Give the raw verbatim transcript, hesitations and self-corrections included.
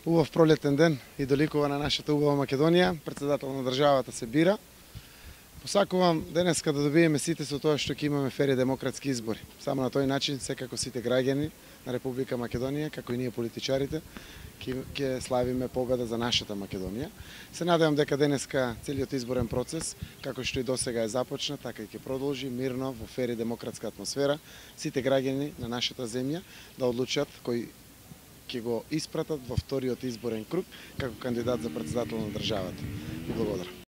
Убав пролетен ден и доликува на нашата убава Македонија. Председател на државата се бира. Посакувам денеска да добиеме сите со тоа што ќе имаме фер и демократски избори. Само на тој начин секако сите граѓани на Република Македонија, како и ние политичарите, ќе славиме победа за нашата Македонија. Се надевам дека денеска целиот изборен процес, како што и досега е започнат, така и ќе продолжи мирно во фер и демократска атмосфера. Сите граѓани на нашата земја да одлучат кој ќе го испратат во вториот изборен круг како кандидат за председател на државата. Благодарам.